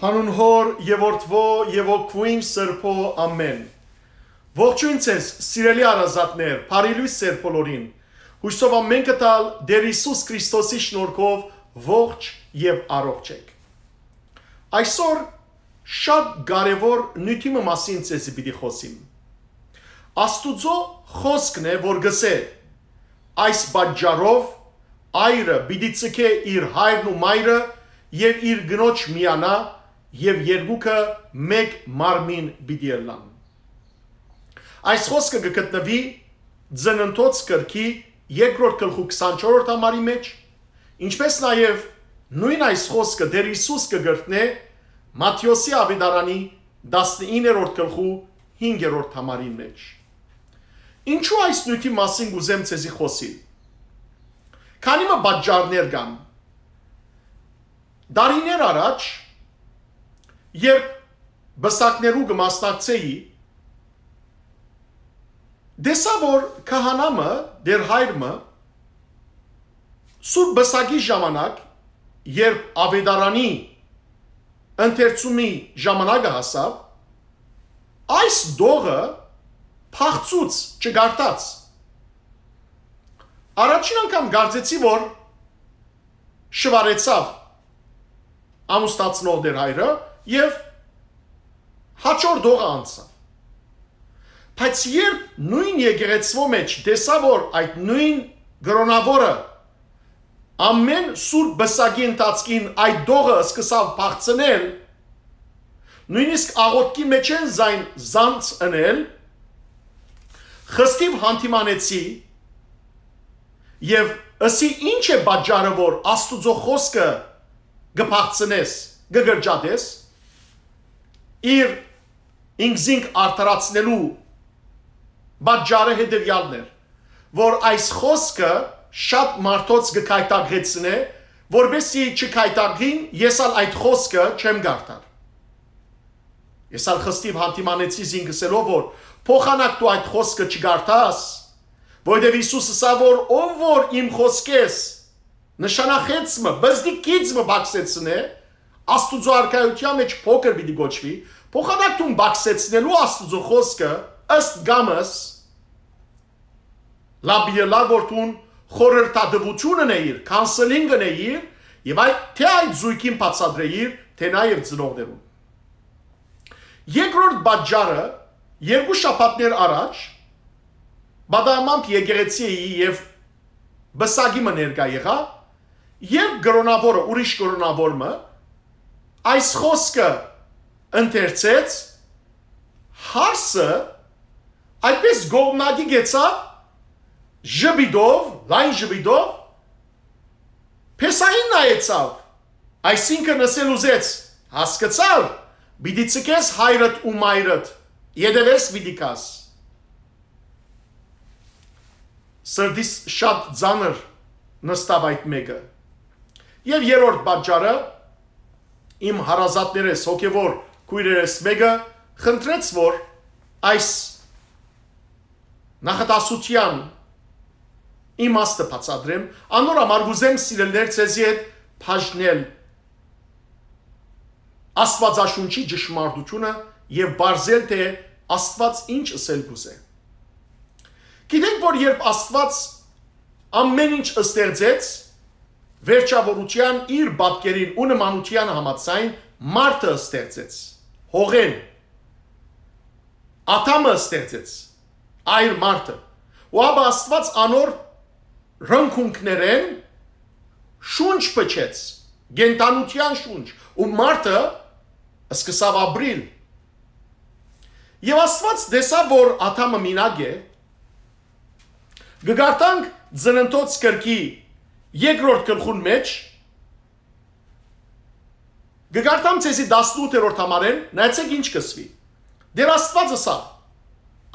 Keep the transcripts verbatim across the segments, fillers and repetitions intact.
Անուն Հօր եւ Որդւոյ եւ Հոգւոյն Սրբոյ, ամէն։ Ողջոյն ձեզ, սիրելի հարազատներ, բարի լոյս ձեր բոլորին։ Յուսով ամէնքը տալ Տէր Յիսուս Քրիստոսի շնորհքով ողջ եւ առողջ էք։ Այսօր շատ կարեւոր նիւթի մը մասին ձեզի պիտի խօսիմ։ Աստուծոյ խօսքն է, որ կ'ըսէ. «Այս պատճառով այրը պիտի ձգէ իր հայրն ու մայրը եւ իր կնոջ միանայ, եւ երկուքը մէկ մարմին պիտի ըլլան»։ Այս խօսքը կը գտնուի Ծննդոց գրքի երկրորդ գլխու քսանչորսերորդ համարի մէջ, ինչպէս նաեւ նոյն այս խօսքը Տէր Յիսուս կը կրկնէ Մատթէոսի աւետարանի տասնիններորդ գլխու հինգերորդ համարին մէջ։ Ինչու այս նիւթի մասին կ'ուզեմ ձեզի խօսիլ։ Քանի մը պատճառներ կան։ Տարիներ առաջ, երբ պսակներու կը մասնակցէի, տեսայ, որ քահանայ մը, Տէր հայր մը, Սուրբ Պսակի ժամանակ, երբ աւետարանի ընթերցումի ժամանակը հասաւ, այս տողը փախցուց, չկարդաց։ Առաջին անգամ կարծեցի, որ շուարեցաւ ամուսնացնող Տէր հայրը եւ հաջորդ տողը անցաւ։ Բայց երբ նոյն եկեղեցւոյ մէջ տեսայ, որ այդ նոյն կրօնաւորը ամէն Սուրբ Պսակի ընթացքին այդ տողը սկսաւ փախցնել, նոյնիսկ աղօթքի մէջէն զայն զանց ընել, խստիւ յանդիմանեցի եւ ըսի. «Ի՞նչ է պատճառը, որ Աստուծոյ խօսքը կը փախցնես, կը կրճատես»։ Իր ինքզինք արդարացնելու պատճառը հետեւեալն էր, որ այս խօսքը շատ մարդոց կը գայթակղեցնէ, որպեսզի չգայթակղին, ես ալ այդ խօսքը չեմ կարդար։ Ես ալ խստիւ յանդիմանեցի զինք ըսելով, որ փոխանակ դու այդ խօսքը չկարդաս, որովհետեւ Յիսուս ըսաւ, որ ով որ իմ խօսքէս նշանախեց մը, բզդի գիծ մը բակսեցնէ, Աստուծոյ արքայութեան մէջ փոքր պիտի կոչուի, փոխանակ դուն բակսեցնելու Աստուծոյ խօսքը ըստ կամս, լաւ պիտի ըլլայ, որ դուն խորհրդատուութիւն ընէիր, counselling ընէիր, եւ այդ, թէ այդ զոյգին բացատրէիր, թէ նաեւ ծնողներուն։ Երկրորդ պատճառը, երկու շաբաթներ առաջ, պատահմամբ եկեղեցի էի եւ պսակի մը ներկայ եղայ, երբ կրօնաւորը, ուրիշ կրօնաւոր մը, այս խօսքը ընթերցեց, հարսը այդպես կողմնակի գեցաւ, ժպիտով, լայն ժպիտով, փեսային նայեցաւ, այսինքն ըսել ուզեց. «Հասկցար, պիտի ձգես հայրդ ու մայրդ, ետեւէս պիտի գաս»։ Սրտիս շատ ծանր նստաւ այդ մէկը։ Եւ երրորդ պատճառը, իմ հարազատներէս, հոգեւոր քոյրերէս մէկը խնդրեց, որ այս նախադասութեան իմաստը բացատրեմ, անոր համար կ'ուզեմ, սիրելիներ, ձեզի հետ բաժնել Աստուածաշունչի ճշմարտութիւնը եւ պարզել, թէ Աստուած ինչ ըսել կ'ուզէ։ Գիտենք, որ երբ Աստուած ամէն ինչ ստեղծեց, վերջաւորութեան իր պատկերին ու նմանութեան համաձայն մարդը ստեղծեց, հողէն, Ադամը ստեղծեց, այր մարդը, ու ապա Աստուած անոր ռնկունքներէն շունչ փչեց, կենդանութեան շունչ, ու մարդը սկսաւ ապրիլ։ Եւ Աստուած տեսաւ, որ Ադամը մինակ է, կը կարդանք Ծննդոց գրքի երկրորդ գլխուն մէջ, կը կարդամ ձեզի տասնութերորդ համարէն, նայեցէք ինչ կ'ըսուի։ Տէր Աստուած ըսաւ.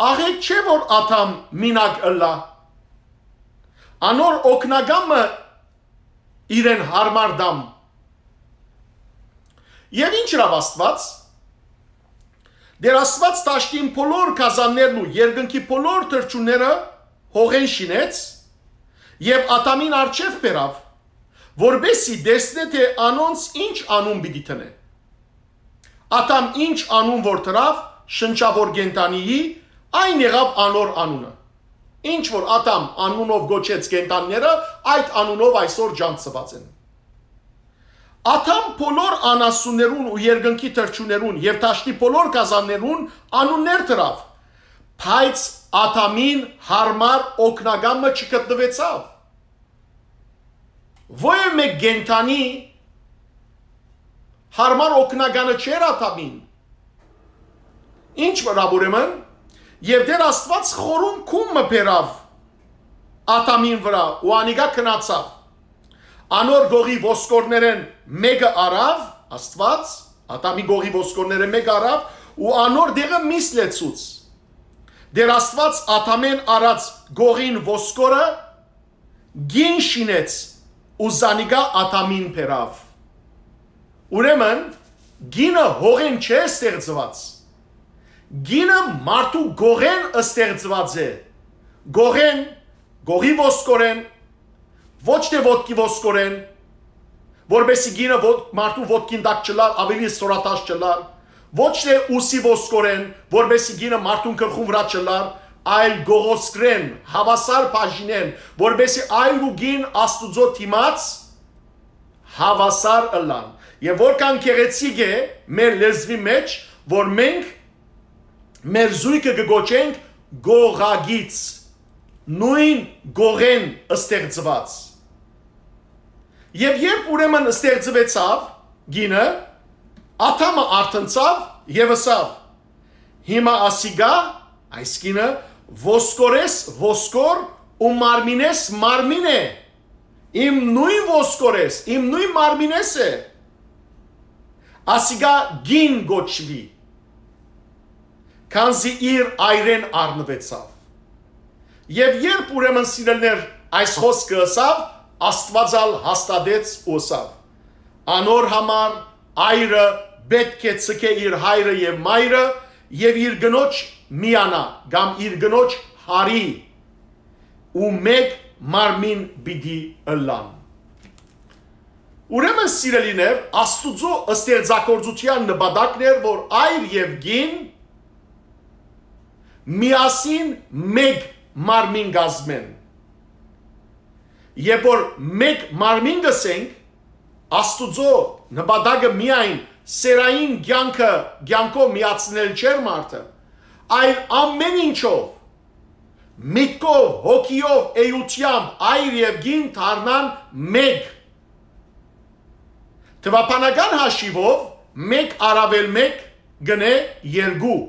«Աղէկ չէ՞ որ Ադամ մինակ ըլլայ։ Անոր օգնական մը իրեն յարմար տամ»։ Եւ ինչ ըրաւ Աստուած։ Տէր Աստուած դաշտին բոլոր գազաններն ու երկնքի բոլոր թռչունները հողէն շինեց եւ Ադամին առջեւ բերաւ, որպեսզի տեսնէ, թէ անոնց ինչ անուն պիտի դնէ։ Ադամ ինչ անուն որ դրաւ շնչաւոր կենդանիի, այն եղաւ անոր անունը։ Ինչ որ Ադամ անունով գոչեց կենդանիները, այդ անունով այսօր ճանչցուած են։ Ադամ բոլոր անասուններուն ու երկնքի թռչուններուն եւ դաշտի բոլոր գազաններուն անուններ դրաւ, բայց Ադամին յարմար օգնական մը չգտնուեցաւ։ Ոեւ մէկ կենդանի յարմար օգնականը չէր Ադամին։ Ինչ վրայ ուրեմն, եւ Տէր Աստուած խորուն քուն մը բերաւ Ադամին վրայ ու անիկա գնացաւ։ Անոր գողի ոսկորներէն մէկը առաւ, Աստուած, Ադամի գողի ոսկորներէն մէկը առաւ ու անոր դեղը միս լեցուց։ Տէր Աստուած Ադամէն առած գողին ոսկորը գին շինեց ու զանիկա Ադամին բերաւ։ Ուրեմն, գինը հողէն չէ ստեղծուած։ Գինը մարդու գողէն ստեղծուած է։ Գողէն, գողի ոսկորէն, ոչ թէ ոտքի ոսկորէն, որպեսզի գինը ոտ-, մարդու ոտքին տակ չլար, ավելի սորատաշ չլար, ոչ թէ ուսի ոսկորէն, որպեսզի գինը մարդուն գլխուն վրայ չլար, այլ գողոսկրէն, հաւասար բաժինէն, որպեսզի այր ու գին Աստուծոյ դիմաց հաւասար ըլլան։ Եւ որքան գեղեցիկ է մեր լեզուի մեջ, որ մենք մեր զոյգը կը կոչենք գողագիծ, նոյն գողէն ստեղծուած։ Եւ երբ ուրեմն ստեղծուեցաւ գինը, Ադամը արթնցաւ եւ ըսաւ. «Հիմա ասիկա, այս գինը, ոսկորես ոսկոր ու մարմինես մարմին է։ Իմ նոյն ոսկորես, իմ նոյն մարմինես է։ Ասիկա գին կոչուի, քանզի իր այրէն առնուեցաւ»։ Եւ երբ ուրեմն սիրելիներ այս խօսքը ըսաւ, Աստուած ալ հաստատեց ու ըսաւ. «Անոր համար այրը պէտք է ձգէ իր հայրը եւ մայրը եւ իր կնոջ միանայ, կամ իր կնոջ յարի, ու մէկ մարմին պիտի ըլլան»։ Ուրեմն, սիրելիներ, Աստուծոյ ստեղծագործութեան նպատակն էր, որ այր եւ գին միասին մէկ մարմին կազմեն։ Երբ որ մէկ մարմին կ'ըսենք, Աստուծոյ նպատակը միայն սեռային կեանքը, կեանքով միացնել չէր մարդը, այլ ամէն ինչով, միտքով, հոգիով, էութեամբ, այր եւ գին դառնան մէկ։ Թուաբանական հաշիւով, մէկ առաւել մէկ կ'ընէ երկու։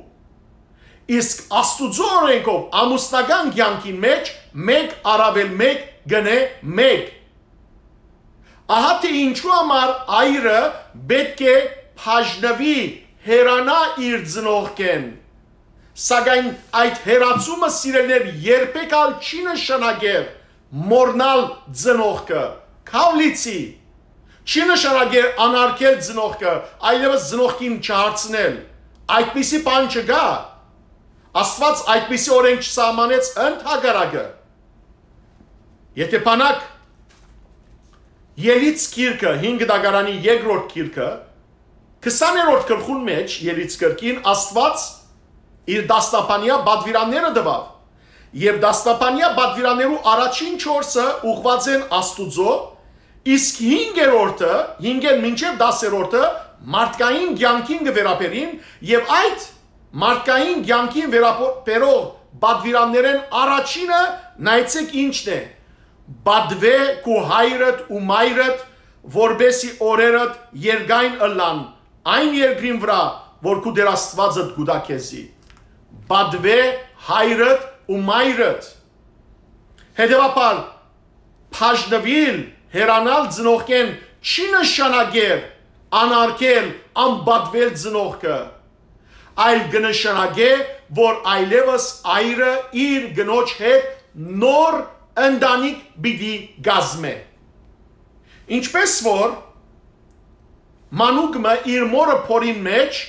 Իսկ Աստուծոյ օրէնքով, ամուսնական կեանքին մէջ, մէկ առաւել մէկ կ'ընէ մէկ։ Ահա թէ ինչու համար այրը պէտք է բաժնուի, հեռանայ իր ծնողքէն։ Սակայն այդ հեռացումը, սիրելիներ, երբեք ալ չի նշանակեր մոռնալ ծնողքը, քաւ լիցի։ Չի նշանակեր անարգել ծնողքը, այլեւս ծնողքին չհարցնել։ Այդպիսի բան չկայ։ Աստուած այդպիսի օրէնք չսահմանեց, ընդհակառակը։ Եթէ բանակ Ելից գիրքը, հինգ դագարանի երկրորդ գիրքը, քսաներորդ գլխուն մէջ, Ելից կրկին, Աստուած իր դասնապանեայ պատուիրանները տուաւ։ Եւ դասնապանեայ պատուիրաններու առաջին չորսը ուղղուած են Աստուծոյ, իսկ հինգերորդը, հինգէն մինչեւ տասերորդը, մարդկային կեանքին կը վերաբերին, եւ այդ մարդկային կեանքին վերաբերող պատուիրաններէն առաջինը, նայեցէք ինչն է. «Պատուէ քու հայրդ ու մայրդ, որպեսզի օրերդ երկայն ըլլան այն երկրին վրայ, որ քու Տէր Աստուածդ կու տայ քեզի»։ Պատուէ հայրդ ու մայրդ։ Հետեւաբար, բաժնուիլ, հեռանալ ծնողքէն չի նշանակեր անարգել, անպատուել ծնողքը, այլ կը նշանակէ, որ այլեւս այրը իր կնոջ հետ նոր ընտանիք պիտի կազմէ։ Ինչպես որ մանուկ մը իր մօրը փորին մէջ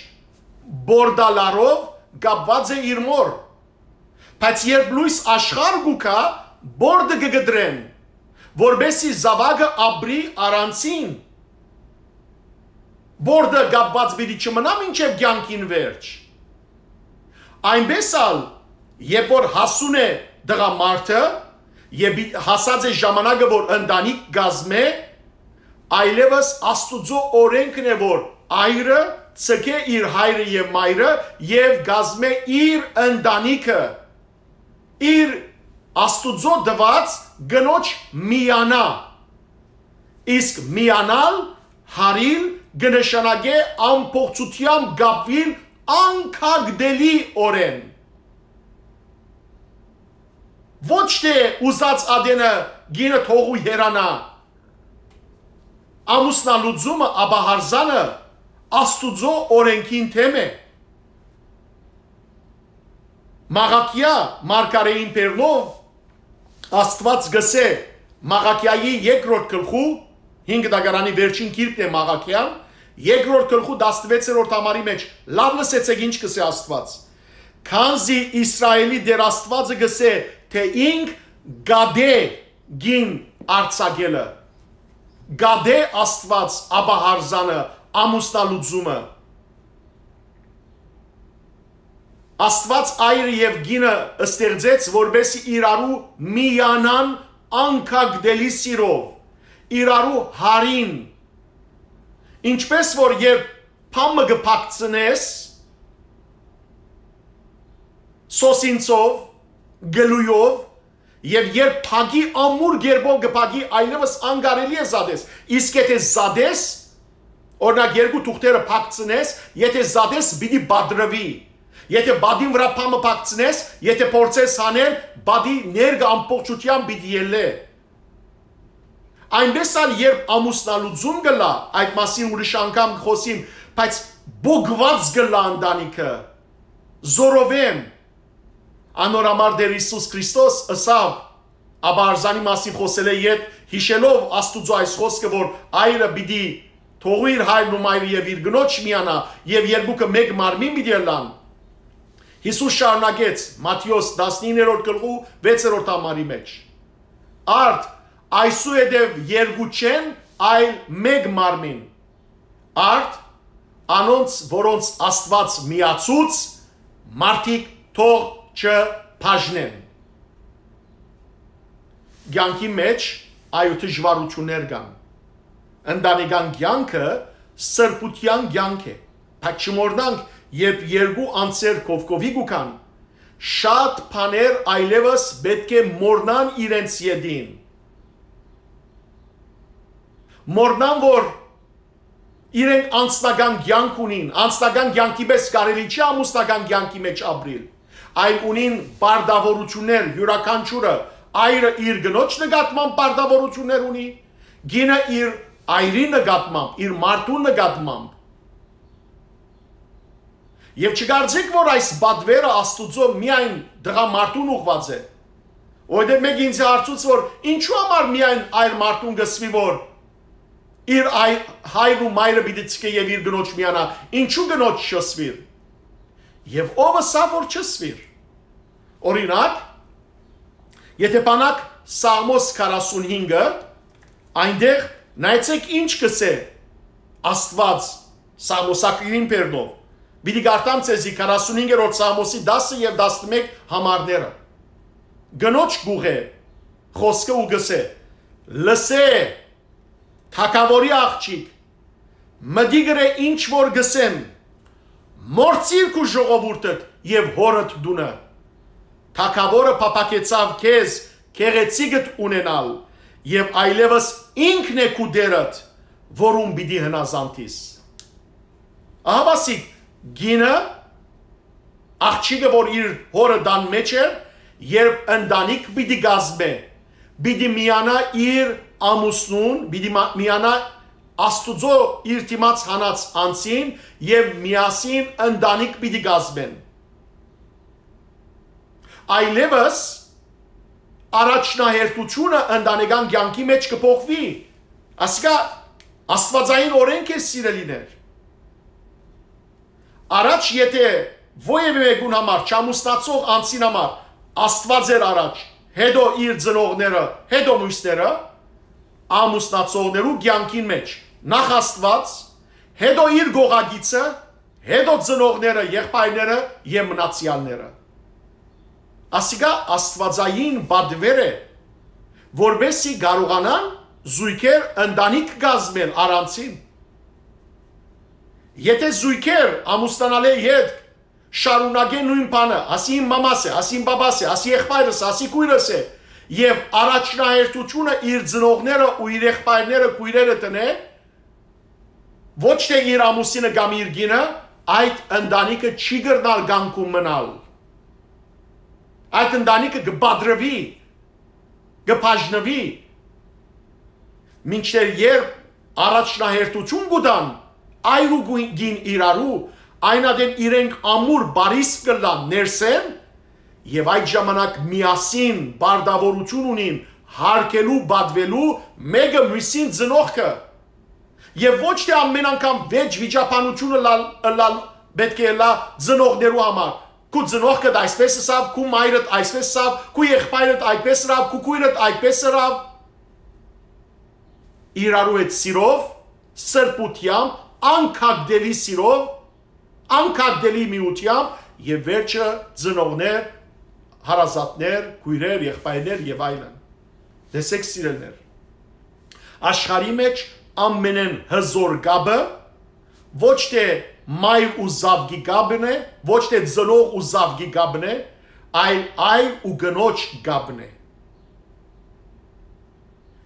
բորդալարով կապուած է իր մօր, բայց երբ լոյս աշխարհ կու գայ, բորդը կը կտրեն, որպեսզի զաւակը ապրի առանցին։ բորտը կապուած պիտի չմնայ մինչեւ կեանքին վերջ։ Այնպէս ալ, երբ որ հասուն է տղամարդը եւ հասած է ժամանակը, որ ընտանիք կազմէ, այլեւս Աստուծոյ օրէնքն է, որ այրը ցկէ իր հայրը եւ մայրը եւ կազմէ իր ընտանիքը, իր Աստուծոյ տուած կնոջ միանայ։ Իսկ միանալ, հարիլ, կը նշանակէ ամբողջութեամբ կապուիլ անկագտելի օրէն։ Ոչ թէ ուզած ատենը կինը թողու հեռանայ։ Ամուսնալուծումը, աբահարզանը Աստուծոյ օրէնքին դէմ է։ Մաղաքիա մարգարէին բերնով Աստուած կ'ըսէ Մաղաքիայի երկրորդ գլխու, հինգ դագարանի վերջին գիրքն է Մաղաքիան, երկրորդ գլխու տասնվեցերորդ համարի մէջ, լաւ լսեցէք ինչ կ'ըսէ Աստուած։ Քանզի Իսրայէլի Տէր Աստուածը կ'ըսէ, թէ ինք կ'ատէ կին արձակելը, կ'ատէ Աստուած աբահարզանը, ամուսնալուծումը։ Աստուած այրը եւ կինը ստեղծեց, որպէսզի իրարու միանան անկագտելի սիրով, իրարու հարին, ինչպէս որ երբ բան մը կը փակցնես սոսինցով, գլույով, եւ երբ փակի ամուր կերպով կը փակի, այլեւս անկարելի է զատես։ Իսկ եթէ զատես, օրինակ, երկու թուղթերը փակցնես, եթէ զատես, պիտի պատռուի։ Եթէ պատին վրայ բան մը փակցնես, եթէ փորձես հանել, պատի ներկը ամբողջութեամբ պիտի ելլէ։ Այնպէս ալ երբ ամուսնալուծում կ'ըլլայ, այդ մասին ուրիշ անգամ կը խօսիմ, բայց պոկուած կ'ըլլայ ընտանիքը, զօրովէն։ Անոր համար Տէր Յիսուս Քրիստոս ըսաւ, աբահարզանի մասին խօսելէ յետ, յիշելով Աստուծոյ այս խօսքը, որ այրը պիտի թողի իր հայրն ու մայրը եւ իր կնոջ միանայ, եւ երկուքը մէկ մարմին պիտի ըլլան։ Յիսուս շարունակեց Մատթէոս տասնիններորդ գլխու վեցերորդ համարի մէջ. «Արդ, այսուհետեւ երկու չեն, այլ մէկ մարմին»։ Արդ, անոնց, որոնց Աստուած միացուց, մարդիկ թող չբաժնեն։ Կեանքի մէջ այո դժուարութիւններ կան։ Ընտանեկան կեանքը սրբութեան կեանք է, բայց չմոռնանք, երբ երկու անձեր կողքովի կու գան, շատ բաներ այլեւս պէտք է մոռնան իրենց ետին։ Մոռնան, որ իրենք անձնական կեանք ունին, անձնական կեանքի պէս կարելի չի ամուսնական կեանքի մէջ ապրիլ, այլ ունին պարտաւորութիւններ, յուրաքանչիւրը, այրը իր կնոջ նկատմամբ պարտաւորութիւններ ունի, կինը իր այրի նկատմամբ, իր մարդուն նկատմամբ։ Եւ չկարծեք, որ այս պատվերը Աստուծոյ միայն տղամարդուն ուղղուած է։ Որովհետեւ մէկը ինձ հարցուց, որ ինչու համար միայն այր մարդուն կ'ըսուի, որ իր այ-, հայրն ու մայրը պիտի ցկէ եւ իր կնոջ միանայ, ինչու կնոջ չ'ըսուիր։ Եւ ո՞վ ըսաւ, որ չ'ըսուիր։ Օրինակ, եթէ բանաք Սաղմոս քառասունհինգը, այնտեղ նայեցէք ինչ կ'ըսէ Աստուած Սաղմոսագիրին բերնով։ Պիտի կարդամ ձեզի քառասունհինգերորդ Սաղմոսի դասը եւ տասնմէկ համարները։ Կնոջ կ'ուղղէ խօսքը ու կ'ըսէ. «Լսէ, թագաւորի աղջիկ, մտի գրէ ինչ որ կ'ըսեմ, մոռցիր քու ժողովուրդդ եւ հօրդ տունը։ Թագաւորը փափաքեցաւ քեզ գեղեցիկդ ունենալ, եւ այլեւս ինքն է քու Տէրդ, որուն պիտի հնազանդիս»։ Ահա, ասիկ, կինը, աղջիկը, որ իր հօրը տան մէջ էր, երբ ընտանիք պիտի կազմէ, պիտի միանայ իր ամուսնուն, պիտի մա-, միանայ Աստուծոյ իր դիմաց հանած անձին եւ միասին ընտանիք պիտի կազմեն։ Այլեւս առաջնահերթութիւնը ընտանեկան կեանքի մէջ կը փոխուի։ Ասիկա աստուածային օրէնք է, սիրելիներ։ Առաջ, եթէ որեւէ մեկուն համար, չամուսնացող անձին համար, Աստուած էր առաջ, հետո իր ծնողները, հետո միւսները, ամուսնացողներու կեանքին մէջ նախ Աստուած, Հետո իր գողագիցը, հետո ծնողները, եղբայրները եւ մնացեալները։ Ասիկա աստուածային պատվեր է, որպեսզի կարողանան զույգեր ընտանիք կազմել առանցին։ Եթե զույգեր ամուսնանալէ յետ շարունակեն նոյն բանը, ասի իմ մամաս է, ասի իմ պապաս է, ասի եղբայրս է, ասի քոյրս է, եւ առաջնահերթութիւնը իր ծնողները ու իր եղբայրները, քոյրերը տնէ, ոչ թէ իր ամուսինը կամ իր կինը, այդ ընտանիքը չի կրնար կանգուն մնալ։ Այդ ընտանիքը կը պատրուի, կը բաժնուի, մինչդեռ երբ առաջնահերթութիւն կու տան այր ու գույն-, գին իրարու, այն ատեն իրենք ամուր բարիսկ կ'ըլլան ներսէն, եւ այդ ժամանակ միասին պարտաւորութիւն ունին հարգելու, պատուելու մէկը միւսին ծնողքը։ Եւ ոչ թէ ամէն անգամ վեճ վիճաբանութիւնը լալ, լալ, պէտք է ըլլայ ծնողներու համար։ Քու ծնողքդ այսպէս ըսաւ, քու մայրդ այսպէս ըսաւ, քու եղբայրդ այդպէս ըրաւ, քու քոյրդ այդպէս ըրաւ։ Իրարու հետ սիրով, սրբութեամբ, անկագտելի սիրով, անկագտելի միութեամբ եւ վերջը ծնողներ, հարազատներ, քոյրեր, եղբայրներ եւ այլն։ Տեսեք, սիրելիներ, աշխարհի մէջ ամենէն հզոր կապը ոչ թէ մայր ու զաւկի կապն է, ոչ թէ ծնող ու զաւկի կապն է, այլ այր ու կնոջ կապն է։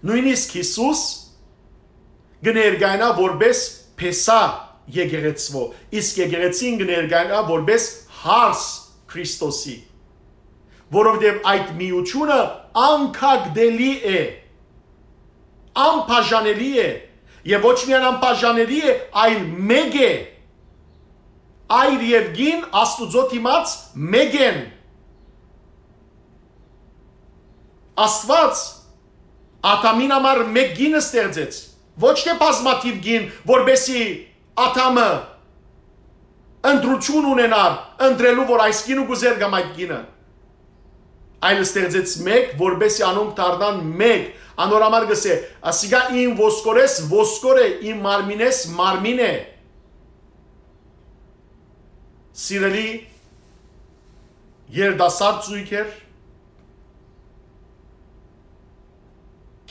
Նոյնիսկ Յիսուս կը ներկայանայ որպէս փեսայ եկեղեցւոյ, իսկ եկեղեցին կը ներկայանայ որպէս հարս Քրիստոսի, որովհետեւ այդ միութիւնը անկագտելի է, անբաժանելի է, եւ ոչ միայն անբաժանելի է, այլ մէկ է։ Այր եւ կին Աստուծոյ դիմաց մէկ են։ Աստուած Ադամին համար մէկ կին ստեղծեց, ոչ թէ բազմաթիւ կին, որպէսզի Ադամը ընտրութիւն ունենար ընտրելու, որ այս կինը կ'ուզէր կամ այդ կինը, այլ ստեղծեց մէկ, որպէսզի անոնք դառնան մէկ։ Անոր համար կ'ըսէ. «Ասիկա իմ ոսկորէս ոսկոր է, իմ մարմինէս մարմին է»։ Սիրելի երիտասարդ զոյգեր,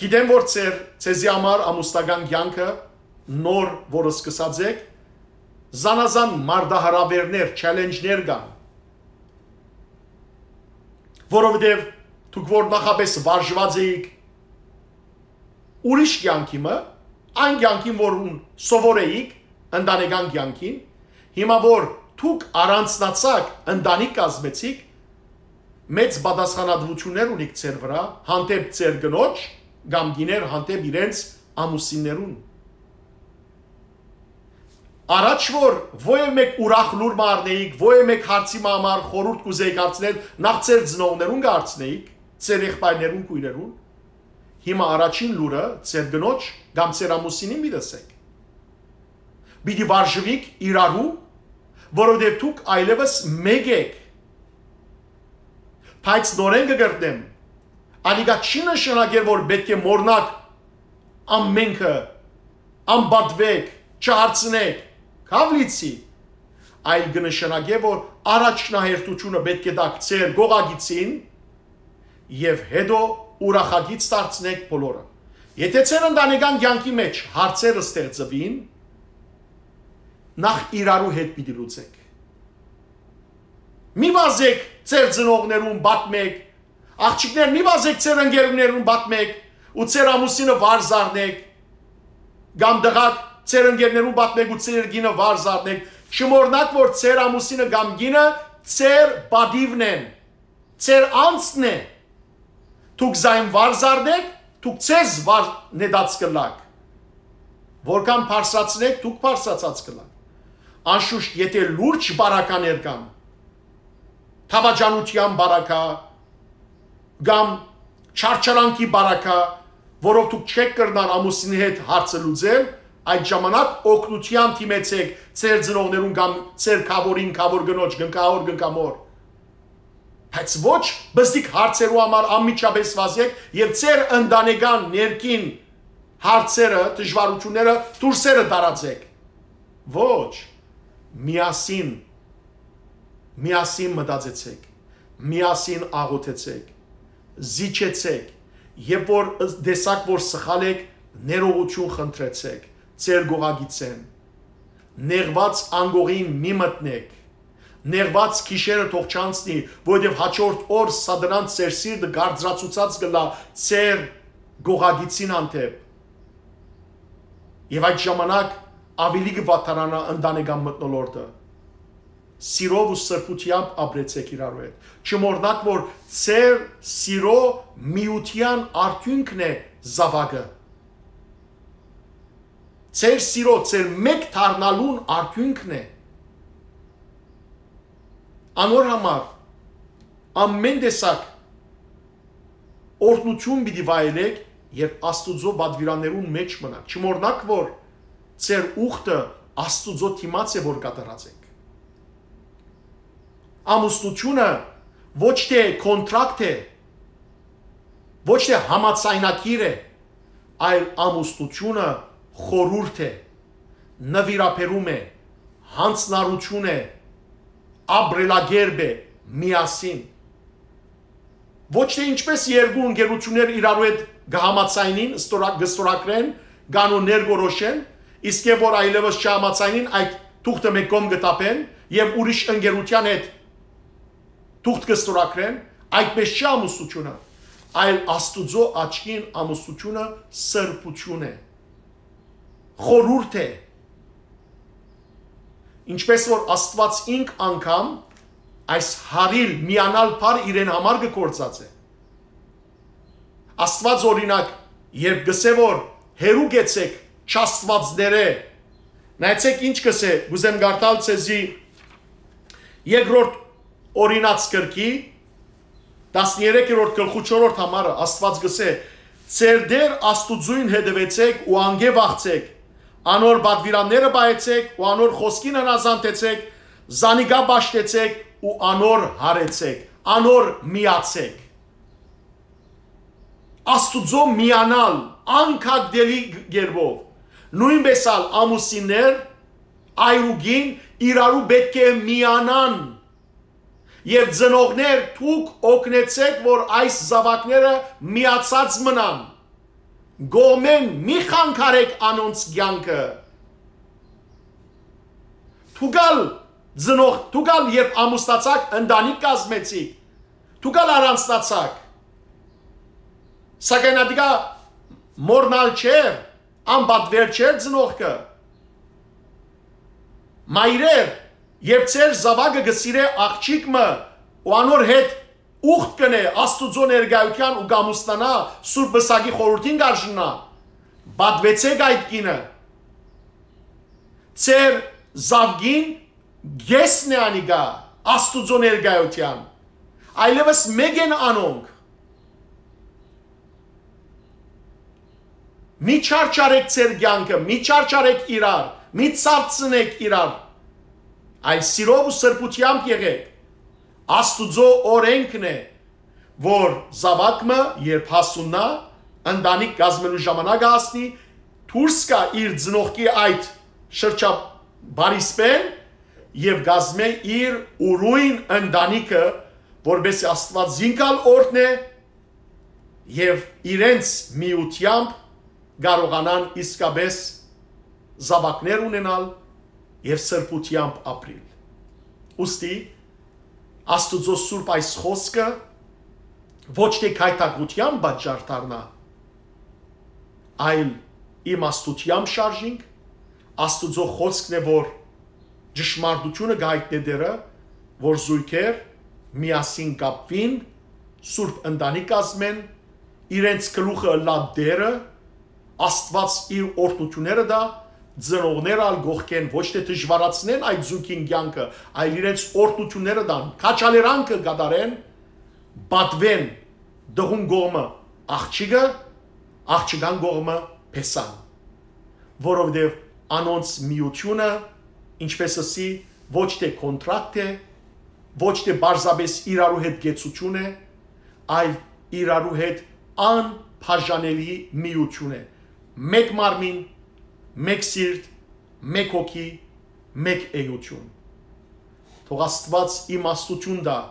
գիտեմ, որ ձեր, ձեզի համար ամուսնական կեանքը նոր, որ սկսած եք, զանազան մարտահրաւերներ, չելենջներ կան, որովհետեւ դուք որ նախապես վարժուած էիք ուրիշ կեանքի մը, այն կեանքին, որուն սովոր էիք, ընտանեկան կեանքին, հիմա որ դուք առանձնացաք, ընտանիք կազմեցիք, մեծ պատասխանատուութիւններ ունիք ձեր վրայ, հանդէպ ձեր կնոջ կամ կիներ հանդէպ իրենց ամուսիններուն։ Առաջ որ ոեւ մէկ ուրախ լուր մը առնէիք, ոեւ մէկ հարցի մը համար խորհուրդ կ'ուզէիք հարցնել, նախ ձեր ծնողներուն կ'արցնէիք, ձեր եղբայրներուն, քոյրերուն, հիմա առաջին լուրը ձեր կնոջ կամ ձեր ամուսինին պիտի ըսէք։ Պիտի վարժուիք իրարու, որովհետեւ դուք այլեւս մէկ էք։ Բայց նորէն կը կրկնեմ, անիկա չի նշանակեր, որ պէտք է մոռնաք ամենքը, անպատուեք, չհարցնեք, քաւ լիցի, այլ կը նշանակէ, որ առաջնահերթութիւնը պէտք է տաք ձեր գողագիցին եւ հետո ուրախագիծ դարձնեք բոլորը։ Եթե ձեր ընտանեկան կեանքի մէջ հարցեր ստեղծուին, նախ իրարու հետ պիտի լուծեք։ Մի վազեք ձեր ծնողներուն, պատմեք, աղջիկներ, մի վազեք ձեր ընկերներուն, պատմեք ու ձեր ամուսինը վար զարնեք, կամ տղաք, ձեր ընկերներուն պատմեք ու ձեր կինը վար զարնեք։ Չմոռնաք, որ ձեր ամուսինը կամ կինը ձեր պատիվն են, ձեր անձն է։ Դուք զայն վար զարնեք, դուք ձեզ վար նետած կ'ըլլաք։ Որքան բարձրացնեք, դուք բարձրացած կ'ըլլաք։ Անշուշտ, եթե լուրջ բարականեր կան, դավաճանութեան բարակա կամ չարչարանքի բարակա, որով դուք չեք կրնար ամուսինի հետ հարցը լուծել, այդ ժամանակ օգնութեան դիմեցեք ձեր ծնողներուն կամ ձեր գաւորին, գաւոր կնոջ, գնկահոր, գնկամոր։ Բայց ոչ բզիկ հարցերու համար անմիջապես վազեք եւ ձեր ընտանեկան ներքին հարցերը, դժվարութիւնները դուրսերը տարածեք։ Ոչ, միասին, միասին մտածեցէք, միասին աղօթեցէք, զիջեցէք, երբ որ տեսաք որ սխալ եք, ներողություն խնդրեցէք ձեր գողագիծէն, նեղուած անկողին մի մտնեք, նեղուած գիշերը թող չանցնի, որովհետեւ հաջորդ օր սատանան ձեր սիրտը կարծրացուցած կ'ըլլայ ձեր գողագիծին հանդէպ։ Եւ այդ ժամանակ աւելի կը վատթարանայ ընտանեկան մթնոլորտը։ Սիրով ու սրբութեամբ ապրեցէք իրարու հետ։ Չմոռնաք որ ձեր սիրո միութեան արդիւնքն է զաւակը։ Ձեր սիրո, ձեր մէկ դառնալուն արդիւնքն է։ Անոր համար ամէն տեսակ օրհնութիւն պիտի վայելէք, երբ Աստուծոյ պատուիրաններուն մէջ մնաք։ Չմոռնաք որ ձեր ուխտը Աստուծոյ դիմաց է որ կատարած եք։ Ամուսնութիւնը ոչ թէ կոնտրակտ է, ոչ թէ համաձայնագիր է, այլ ամուսնութիւնը խորհուրդ է, նուիրաբերում է, յանձնառութիւն է, ապրելակերպ է, միասին։ Ոչ թէ ինչպես երկու ընկերութիւններ իրարու հետ կը համաձայնին, ստորա-, կը ստորագրեն, կանոններ կորոշեն, իսկ երբ որ այլեւս չհամաձայնին, այդ թուղթը մէկ կողմ կը թափեն եւ ուրիշ ընկերութեան հետ թուղթ կը ստորագրեն, այդպես չի ամուսնութիւնը, այլ Աստուծոյ աչքին ամուսնութիւնը սրբութիւն է, խորհուրդ է, ինչպես որ Աստուած ինք անգամ այս հարիլ միանալ բառ իրեն համար կը գործածէ։ Աստուած օրինակ, երբ կ'ըսէ որ հեռու գեցեք չաստուածներէ, նայեցէք ինչ կ'ըսէ, կ'ուզեմ կարդալ ձեզի երկրորդ օրինաց գրքի, տասներեքերորդ գլխու չորրորդ համարը, Աստուած կ'ըսէ. «Ձեր Տէր Աստուծոյն հետեւեցէք ու անկէ վախցէք, անոր պատուիրանները պահեցէք ու անոր խօսքին հնազանդեցէք, զանիկա պաշտեցէք ու անոր հարեցէք, անոր միացէք»։ Աստուծոյ միանալ անկագտելի կերպով։ Նոյնպես ալ ամուսիններ այր ու կին իրարու պէտք է միանան։ Եւ ծնողներ, դուք օգնեցէք որ այս զաւակները միացած մնան, կողմէն մի խանգարէք անոնց կեանքը։ Դուք ալ ծնող, դուք ալ երբ ամուսնացաք, ընտանիք կազմեցիք, դուք ալ առանձնացաք, սակայն ատիկա մոռնալ չէ, անպատուեր չէ ծնողքը։ Մայրեր, երբ ձեր զաւակը կը սիրէ աղջիկ մը ու անոր հետ ուխտ կ'ընէ Աստուծոյ ներկայութեան ու կ'ամուսնանայ, Սուրբ Պսակի խորհուրդին կ'արժանայ, պատուեցէք այդ կինը։ Ձեր զաւկին կէսն է անիկա Աստուծոյ ներկայութեան, այլեւս մէկ են անոնք։ Մի չարչարեք ձեր կեանքը, մի չարչարեք իրար, մի ցաւցնեք իրար, այլ սիրով ու սրբութեամբ եղեք։ Աստուծոյ օրէնքն է, որ զաւակ մը, երբ հասուննայ, ընտանիք կազմելու ժամանակը հասնի, դուրս գայ իր ծնողքի այդ շրջապարիսպէն եւ կազմէ իր ուրոյն ընտանիքը, որպեսզի Աստուած զինք ալ օրհնէ եւ իրենց միութեամբ կարողանան իսկապես զաւակներ ունենալ եւ սրբութեամբ ապրիլ։ Ուստի Աստուծոյ սուրբ այս խօսքը ոչ թէ գայթակղութեան պատճառ դառնայ, այլ իմաստութեամբ շարժինք։ Աստուծոյ խօսքն է որ ճշմարտութիւնը կ'այտնէ դերը, որ զոյգեր միասին կապուին, սուրբ ընտանիք կազմեն, իրենց գլուխը ըլլայ Տէրը, Աստուած իր օրհնութիւնները տայ, ծնողները ալ կողքէն ոչ թէ դժուարացնեն այդ զոյգին կեանքը, այլ իրենց օրհնութիւնները տան, քաջալերանքը կատարեն, պատուեն տղուն կողմը աղջիկը, աղջկան կողմը փեսան, որովհետեւ անոնց միութիւնը, ինչպես ըսի, ոչ թէ կոնտրակտ է, ոչ թէ պարզապես իրարու հետ կեցութիւն է, այլ իրարու հետ անբաժանելի միութիւն է, մէկ մարմին, մէկ սիրտ, մէկ հոգի, Մեկ էութիւն։ Թող Աստուած իմաստութիւն տայ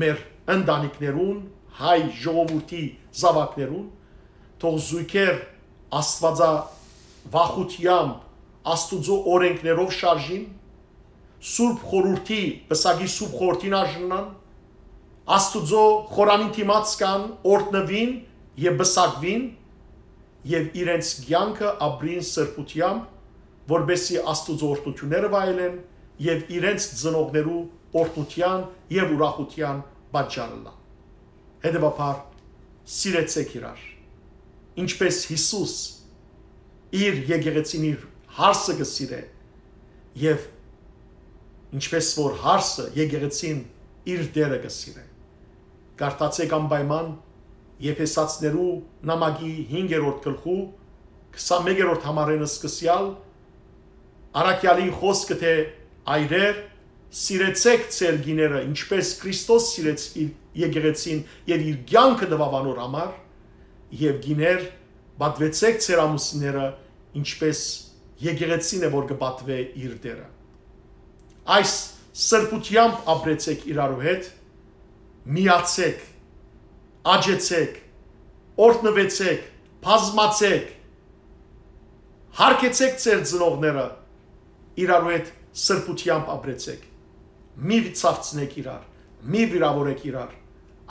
մեր ընտանիքներուն, հայ ժողովուրդի զաւակներուն, թող զոյգեր Աստուածավախութեամբ, Աստուծոյ օրէնքներով շարժին, Սուրբ Խորհուրդի, պսակի Սուրբ Խորհուրդին արժանան, Աստուծոյ խորանին դիմաց կան, օրհնուին եւ պսակուին, եւ իրենց կեանքը ապրին սրբութեամբ, որպէսզի Աստուծոյ օրհնութիւնները վայելեն եւ իրենց ծնողներու օրհնութեան եւ ուրախութեան պատճառ ըլլան։ Հետեւաբար, սիրեցէք իրար, ինչպէս Յիսուս իր եկեղեցին, իր հարսը կը սիրէ, եւ ինչպէս որ հարսը եկեղեցին իր Տէրը կը սիրէ։ Կարդացէք անպայման Եփեսացիներու նամակի հինգերորդ գլխու քսանմեկերորդ համարէն սկսեալ, առաքեալին խօսքը, թէ՝ «Այրեր, սիրեցէք ձեր կիները, ինչպէս Քրիստոս սիրեց իր եկեղեցին եւ իր կեանքը տուաւ անոր համար», եւ «Կիներ, պատուեցէք ձեր ամուսինները, ինչպէս եկեղեցին է, որ կը պատուէ իր Տէրը»։ Այս սրբութեամբ ապրեցէք իրարու հետ, միացէք, աճեցէք, օրհնուեցէք, բազմացէք, հարգեցէք ձեր ծնողները, իրարու հետ սրբութեամբ ապրեցէք, մի ցաւցնէք իրար, մի վիրաւորէք իրար,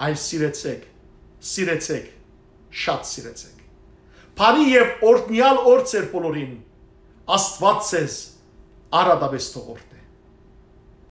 այլ սիրեցէք, սիրեցէք, շատ սիրեցէք։ Բարի եւ օրհնեալ օր ձեր բոլորին, Աստուած ձեզ առատապէս թող օրհնէ։